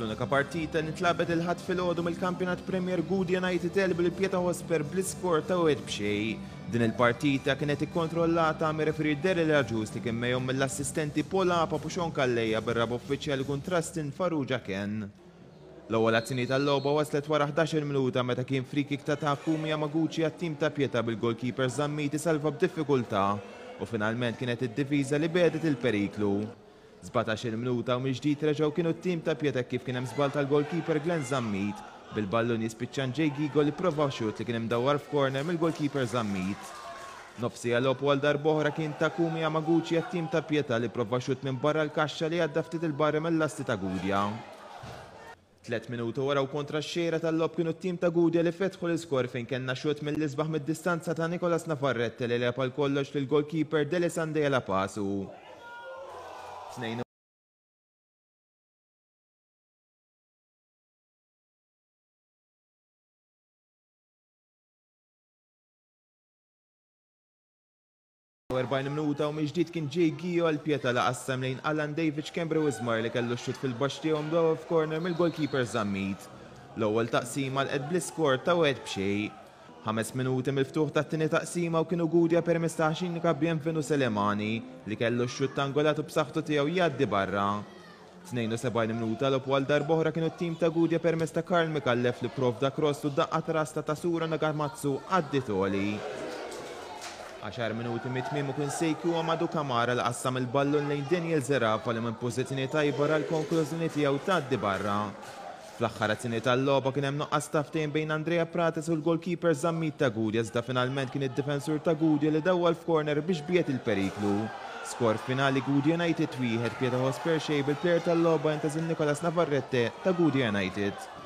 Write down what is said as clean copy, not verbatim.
Fl-unika partita li ntlagħbet il-Ħadd filgħodu mill-Kampjonat Premier Gudja United għelbu lil Pietà Hotspur bl-iskor ta' 1-0. Din il-partita kienet ikkontrollata mir-referee Daryl Agius li kien megħjun mill-assistenti Paul Apap u Sean Calleja bir-raba' uffiċjal ikun Trustin Farrugia Ken. L-ewwel azzjoni tal-logħba waslet wara 11-il minuta meta kien free-kick ta' Takumi Yamaguchi għat-tim ta' Pietà bil-goalkeeper Zammit isalva b'diffikultà u finalment kienet id-difiża li begħdet il-periklu. 17-il minuta u mill-ġdid reġgħu kienu t-tim ta' Pietà hekk kif kien hemm żball tal-goalkeeper Glenn Zammit, bil-ballun jispiċċa għand Jake Ghigo li pprova xutt li kien imdawwar f'corner mill-goalkeeper Zammit. Nofs siegħa logħob u għal darb'oħra kien Takumi Yamaguchi għat-tim ta' Pietà li pprova xutt minn barra l-kaxxa li għadda ftit 'il barra mill-lasti ta' Gudja. Tlett minuti wara u kontra x-xejra tal-logħob kienu t-tim ta' Gudja li fetħu l-iskor fejn kellna xutt mill-isbaħ mid-distanza ta' Nicolas Navarrete li għeleb għal kollox lill-goalkeeper Delisande Alapasu. 42 minuta u mill-ġdid kien Jay Gio għal Pietà li qassam lejn Alan David Schembri Wismar li kellu x-xutt fil-baxx tiegħu mdawwar f'corner mill-goalkeeper Zammit. L-ewwel taqsima għalqet bl-iskor ta' 1-0. Ħames minuti mill-ftuħ tat-tieni taqsima u kienu Gudja permezz ta' Hashinika Bienvenu Selemani li kellu x-xutt angolat u b'saħħtu tiegħu jgħaddi barra. 72 minuta logħob u għal darb'oħra kienu t-tim ta' Gudja permezz ta' Karl Micallef li pprovda cross u d-daqqa ta' ras ta' Tasuro Nagamatsu għaddiet għoli. Għaxar minuti mit-tmiem u kien Sekou Amadou Kamara li qassam il-ballun lejn Daniel Zerafa li minn pożizzjoni tajba ra l-konklużjoni tiegħu tgħaddi barra. Fl-aħħar azzjoni tal-logħba kien hemm nuqqas ta' ftehim bejn Andrea Prates u l-goalkeeper Zammit ta' Gudja iżda finalment kien id-difensur ta' Gudja li dawwal f'corner biex biegħed il-periklu. Skor finali Gudja United 1, Pietà Hotspur xejn bil-plejer tal-logħba jintgħażel Nicolas Navarrete ta' Gudja United.